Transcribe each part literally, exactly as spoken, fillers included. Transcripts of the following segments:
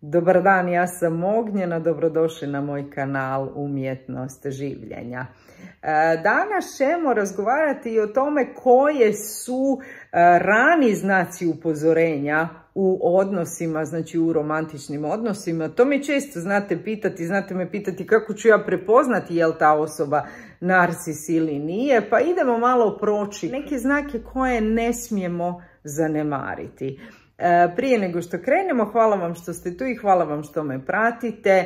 Dobar dan, ja sam Ognjena, dobrodošli na moj kanal Umjetnost življenja. Danas ćemo razgovarati i o tome koje su rani znaci upozorenja u odnosima, znači u romantičnim odnosima. To me često znate pitati, znate me pitati kako ću ja prepoznati je li ta osoba narcis ili nije, pa idemo malo proći neke znake koje ne smijemo zanemariti. Prije nego što krenemo, hvala vam što ste tu i hvala vam što me pratite.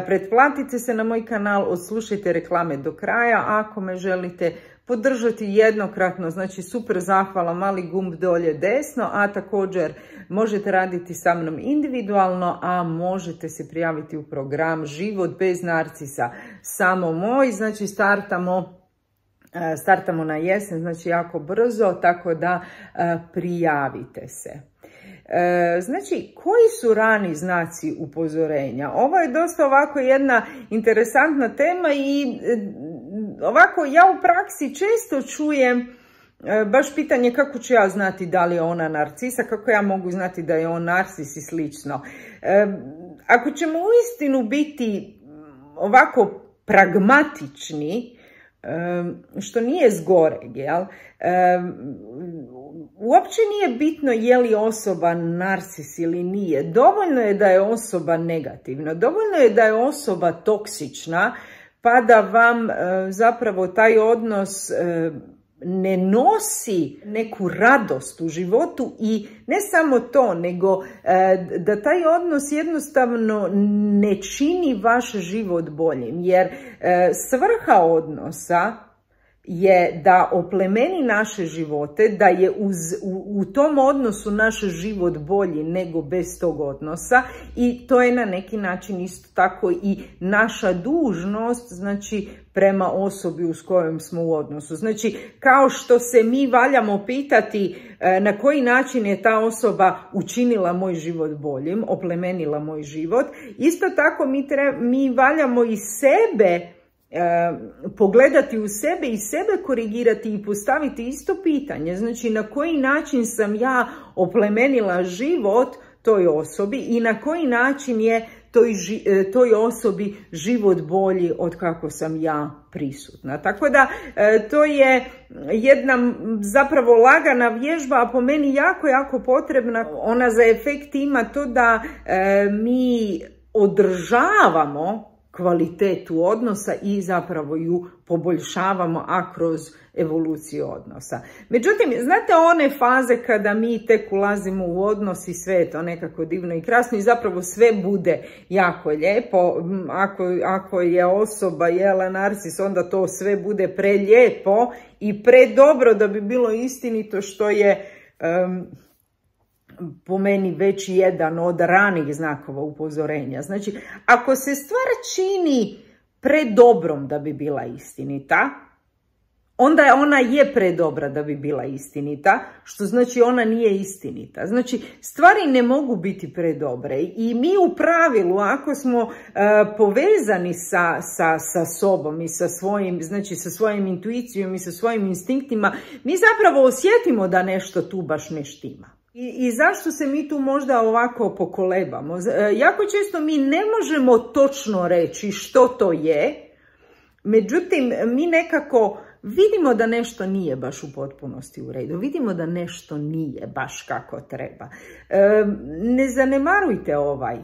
Pretplatite se na moj kanal, odslušajte reklame do kraja ako me želite podržati jednokratno, znači super zahvala, mali gumb dolje desno, a također možete raditi sa mnom individualno, a možete se prijaviti u program Život bez narcisa, samo moj, znači startamo startamo na jesen, znači jako brzo, tako da prijavite se. Znači, koji su rani znaci upozorenja? Ovo je dosta ovako jedna interesantna tema i ovako ja u praksi često čujem baš pitanje kako ću ja znati da li je ona narcisa, kako ja mogu znati da je on narcis i slično. Ako ćemo uistinu biti ovako pragmatični, što nije zgoreg, jel? Uopće nije bitno je li osoba narcis ili nije. Dovoljno je da je osoba negativna, dovoljno je da je osoba toksična, pa da vam zapravo taj odnos ne nosi neku radost u životu i ne samo to, nego da taj odnos jednostavno ne čini vaš život boljim, jer svrha odnosa je da oplemeni naše živote, da je uz, u, u tom odnosu naš život bolji nego bez tog odnosa i to je na neki način isto tako i naša dužnost, znači prema osobi s kojom smo u odnosu. Znači kao što se mi valjamo pitati na koji način je ta osoba učinila moj život boljim, oplemenila moj život, isto tako mi, treba, mi valjamo i sebe pogledati u sebe i sebe korigirati i postaviti isto pitanje. Znači na koji način sam ja oplemenila život toj osobi i na koji način je toj, toj osobi život bolji od kako sam ja prisutna. Tako da to je jedna zapravo lagana vježba, a po meni jako, jako potrebna. Ona za efekt ima to da mi održavamo kvalitetu odnosa i zapravo ju poboljšavamo, a kroz evoluciju odnosa. Međutim, znate one faze kada mi tek ulazimo u odnos i sve je to nekako divno i krasno i zapravo sve bude jako lijepo. Ako, ako je osoba jela narcis, onda to sve bude prelijepo i predobro da bi bilo istinito, što je um, po meni već jedan od ranih znakova upozorenja. Znači, ako se stvar čini predobrom da bi bila istinita, onda je ona je predobra da bi bila istinita, što znači ona nije istinita. Znači, stvari ne mogu biti predobre i mi u pravilu, ako smo uh, povezani sa, sa, sa sobom i sa svojim, znači sa svojim intuicijom i sa svojim instinktima, mi zapravo osjetimo da nešto tu baš ne štima. I, I zašto se mi tu možda ovako pokolebamo? Jako često mi ne možemo točno reći što to je, međutim mi nekako vidimo da nešto nije baš u potpunosti u redu, vidimo da nešto nije baš kako treba. E, ne zanemarujte ovaj,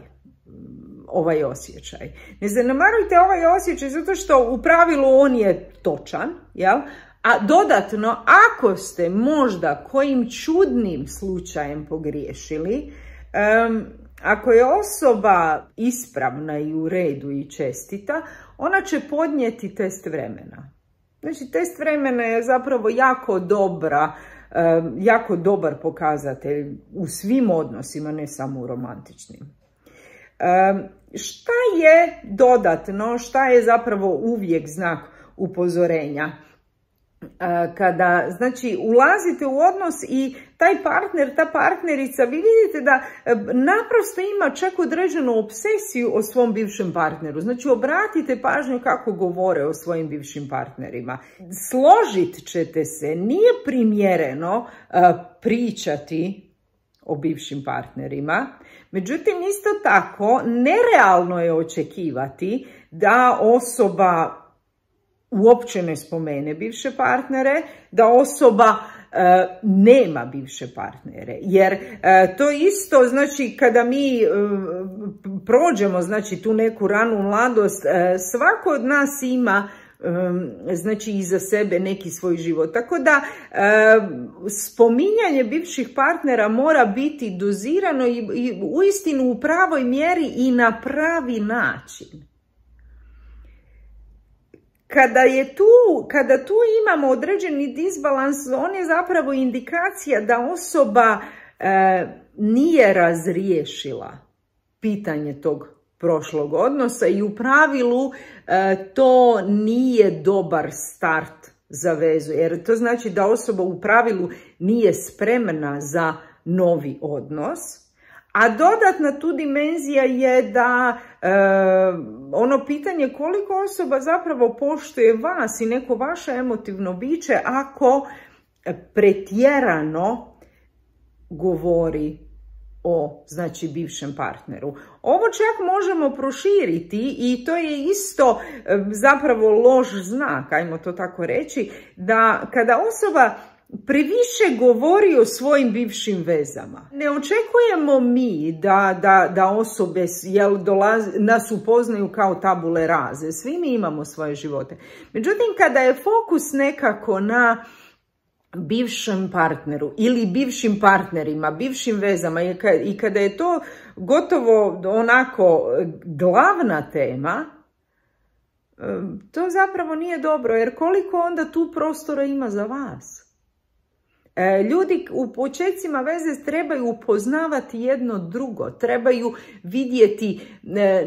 ovaj osjećaj. Ne zanemarujte ovaj osjećaj zato što u pravilu on je točan, jel? A dodatno, ako ste možda kojim čudnim slučajem pogriješili, um, ako je osoba ispravna i u redu i čestita, ona će podnijeti test vremena. Znači, test vremena je zapravo jako dobra, um, jako dobar pokazatelj u svim odnosima, ne samo u romantičnim. Um, šta je dodatno, šta je zapravo uvijek znak upozorenja? Kada, znači, ulazite u odnos i taj partner, ta partnerica, vi vidite da naprosto ima čak određenu obsesiju o svom bivšem partneru. Znači, obratite pažnju kako govore o svojim bivšim partnerima. Složit ćete se, nije primjereno pričati o bivšim partnerima. Međutim, isto tako, nerealno je očekivati da osoba uopće ne spomene bivše partnere, da osoba e, nema bivše partnere. Jer e, to isto, znači, kada mi e, prođemo, znači, tu neku ranu mladost, e, svako od nas ima znači iza sebe neki svoj život. Tako da e, spominjanje bivših partnera mora biti dozirano i, i uistinu u pravoj mjeri i na pravi način. Kada je tu, kada tu imamo određeni disbalans, on je zapravo indikacija da osoba e, nije razriješila pitanje tog prošlog odnosa i u pravilu e, to nije dobar start za vezu, jer to znači da osoba u pravilu nije spremna za novi odnos. A dodatna tu dimenzija je da e, ono pitanje koliko osoba zapravo poštuje vas i neko vaše emotivno biće ako pretjerano govori o, znači, bivšem partneru. Ovo čak možemo proširiti i to je isto e, zapravo loš znak, ajmo to tako reći, da kada osoba previše govori o svojim bivšim vezama. Ne očekujemo mi da, da, da osobe jel, dolaze, nas upoznaju kao tabule raze. Svi mi imamo svoje živote. Međutim, kada je fokus nekako na bivšem partneru ili bivšim partnerima, bivšim vezama i kada je to gotovo onako glavna tema, to zapravo nije dobro, jer koliko onda tu prostora ima za vas? Ljudi u počecima veze trebaju upoznavati jedno drugo, trebaju vidjeti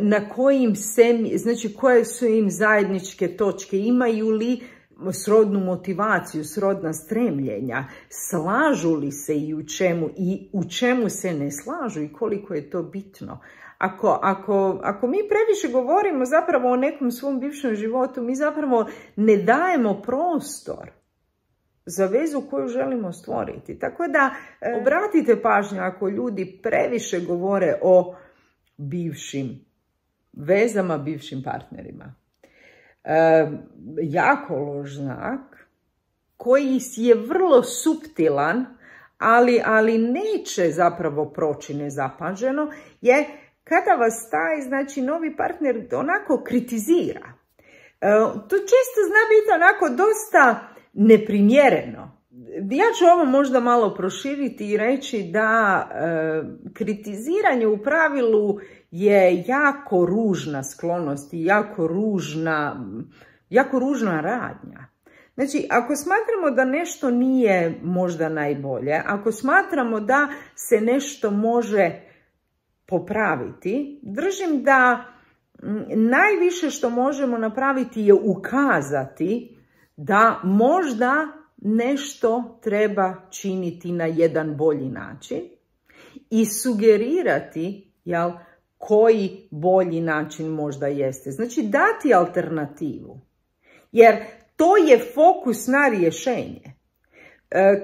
na kojim se, znači koje su im zajedničke točke, imaju li srodnu motivaciju, srodna stremljenja, slažu li se i u čemu i u čemu se ne slažu i koliko je to bitno. Ako, ako, ako mi previše govorimo zapravo o nekom svom bivšem životu, mi zapravo ne dajemo prostor za vezu koju želimo stvoriti. Tako da obratite pažnju ako ljudi previše govore o bivšim vezama, bivšim partnerima. E, jako loš znak koji je vrlo suptilan, ali, ali neće zapravo proći nezapaženo, je kada vas taj, znači, novi partner onako kritizira. E, to često zna biti onako dosta neprimjereno. Ja ću ovo možda malo proširiti i reći da e, kritiziranje u pravilu je jako ružna sklonost i jako ružna, jako ružna radnja. Znači, ako smatramo da nešto nije možda najbolje, ako smatramo da se nešto može popraviti, držim da najviše što možemo napraviti je ukazati da možda nešto treba činiti na jedan bolji način i sugerirati, jel, koji bolji način možda jeste. Znači, dati alternativu. Jer to je fokus na rješenje.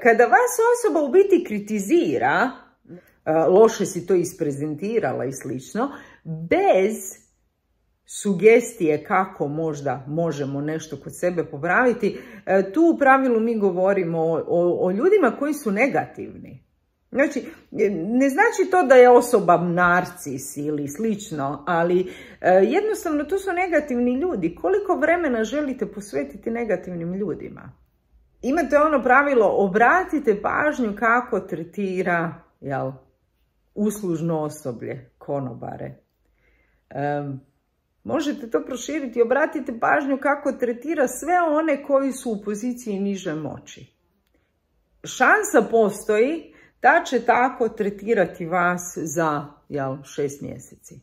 Kada vas osoba u biti kritizira, loše si to isprezentirala i slično, bez sugestije kako možda možemo nešto kod sebe popraviti, tu u pravilu mi govorimo o, o, o ljudima koji su negativni. Znači, ne znači to da je osoba narcis ili slično, ali jednostavno to su negativni ljudi. Koliko vremena želite posvetiti negativnim ljudima? Imate ono pravilo, obratite pažnju kako tretira, jel, uslužno osoblje, konobare. Um, Možete to proširiti, obratite pažnju kako tretira sve one koji su u poziciji niže moći. Šansa postoji da će tako tretirati vas za, jel, šest mjeseci.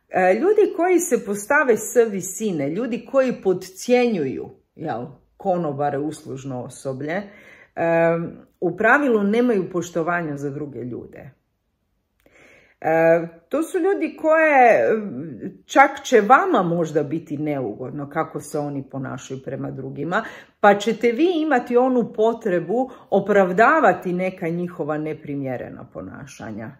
E, ljudi koji se postave s visine, ljudi koji podcjenjuju, jel, konobare, uslužno osoblje, e, u pravilu nemaju poštovanja za druge ljude. E, to su ljudi koje čak će vama možda biti neugodno kako se oni ponašaju prema drugima, pa ćete vi imati onu potrebu opravdavati neka njihova neprimjerena ponašanja.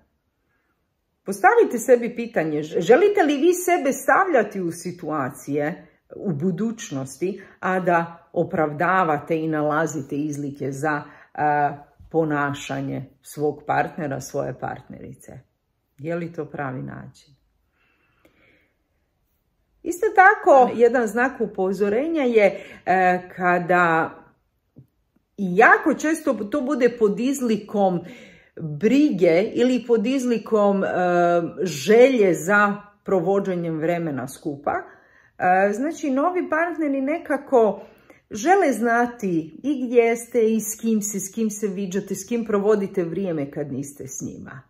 Postavite sebi pitanje, želite li vi sebe stavljati u situacije u budućnosti, a da opravdavate i nalazite izlike za a, ponašanje svog partnera, svoje partnerice? Je li to pravi način? Isto tako, jedan znak upozorenja je e, kada i jako često to bude pod izlikom brige ili pod izlikom e, želje za provođenjem vremena skupa. E, znači, novi partneri nekako žele znati i gdje ste i s kim se, s kim se viđate, s kim provodite vrijeme kad niste s njima.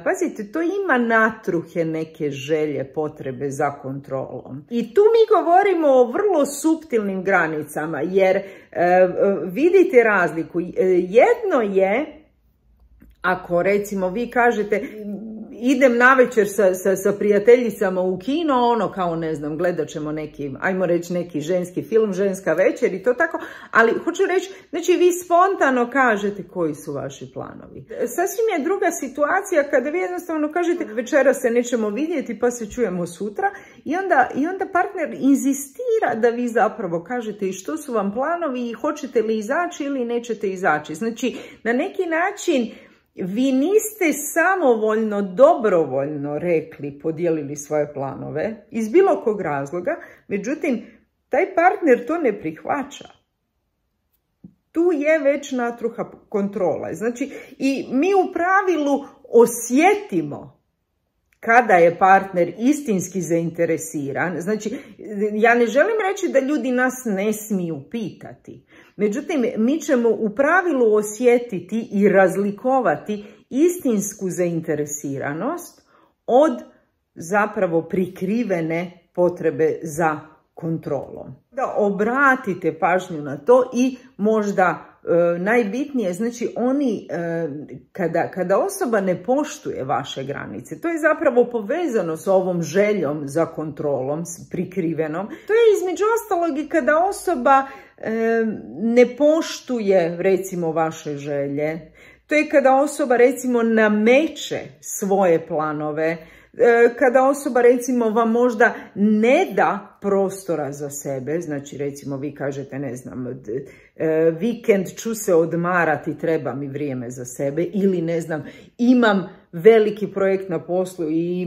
Pazite, to ima natruhe neke želje, potrebe za kontrolom. I tu mi govorimo o vrlo suptilnim granicama, jer e, vidite razliku. Jedno je, ako recimo vi kažete, idem navečer sa, sa, sa prijateljicama u kino, ono kao ne znam, gledat ćemo neki, ajmo reći neki ženski film, ženska večer i to tako, ali hoću reći, znači vi spontano kažete koji su vaši planovi. Sasvim je druga situacija kada vi jednostavno kažete večera se nećemo vidjeti pa se čujemo sutra i onda, i onda partner inzistira da vi zapravo kažete i što su vam planovi i hoćete li izaći ili nećete izaći. Znači na neki način vi niste samovoljno, dobrovoljno rekli, podijelili svoje planove iz bilo kog razloga, međutim, taj partner to ne prihvaća. Tu je već natruha kontrola. Znači, i mi u pravilu osjetimo kada je partner istinski zainteresiran. Znači, ja ne želim reći da ljudi nas ne smiju pitati. Međutim, mi ćemo u pravilu osjetiti i razlikovati istinsku zainteresiranost od zapravo prikrivene potrebe za kontrolom. Da obratite pažnju na to i možda e, najbitnije, znači oni, e, kada, kada osoba ne poštuje vaše granice, to je zapravo povezano s ovom željom za kontrolom, s prikrivenom. To je između ostalog i kada osoba e, ne poštuje recimo vaše želje. To je kada osoba recimo nameće svoje planove, kada osoba recimo vam možda ne da prostora za sebe, znači recimo vi kažete ne znam, vikend ću se odmarati, treba mi vrijeme za sebe ili ne znam, imam veliki projekt na poslu i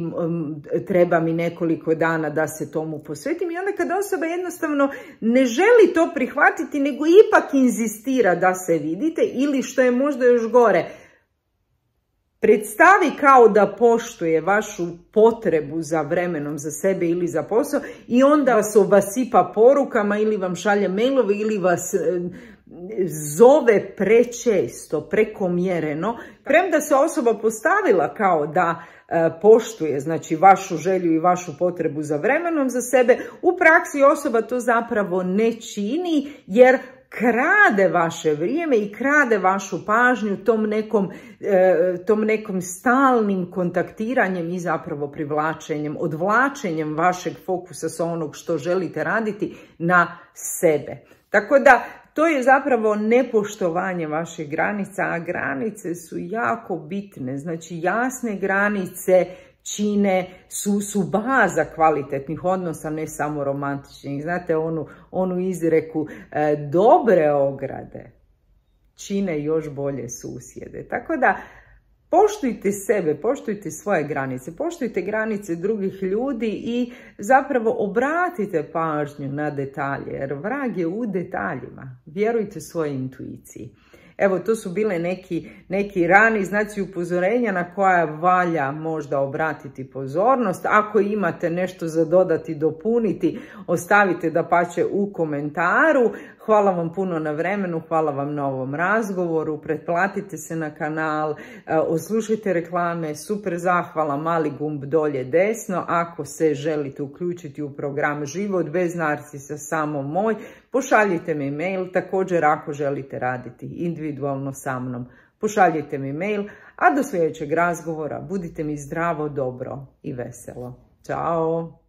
treba mi nekoliko dana da se tomu posvetim i onda kada osoba jednostavno ne želi to prihvatiti nego ipak inzistira da se vidite ili što je možda još gore, predstavi kao da poštuje vašu potrebu za vremenom za sebe ili za posao i onda vas obasipa porukama ili vam šalje mailove ili vas zove prečesto, prekomjereno, premda se osoba postavila kao da e, poštuje znači vašu želju i vašu potrebu za vremenom za sebe, u praksi osoba to zapravo ne čini jer krade vaše vrijeme i krade vašu pažnju tom nekom, e, tom nekom stalnim kontaktiranjem i zapravo privlačenjem, odvlačenjem vašeg fokusa sa onog što želite raditi na sebe. Tako da to je zapravo nepoštovanje vaših granica, a granice su jako bitne. Znači jasne granice čine, su, su baza kvalitetnih odnosa, ne samo romantičnih. Znate onu, onu izreku, e, dobre ograde čine još bolje susjede. Tako da poštujte sebe, poštujte svoje granice, poštujte granice drugih ljudi i zapravo obratite pažnju na detalje, jer vrag je u detaljima. Vjerujte svojoj intuiciji. Evo, to su bile neki, neki rani znaci upozorenja na koja valja možda obratiti pozornost. Ako imate nešto za dodati, dopuniti, ostavite dapače u komentaru. Hvala vam puno na vremenu, hvala vam na ovom razgovoru, pretplatite se na kanal, oslušajte reklame, super zahvala, mali gumb dolje desno. Ako se želite uključiti u program Život bez narsisa, samo moj, pošaljite mi mail. Također ako želite raditi individualno sa mnom, pošaljite mi mail, a do sljedećeg razgovora budite mi zdravo, dobro i veselo. Ćao!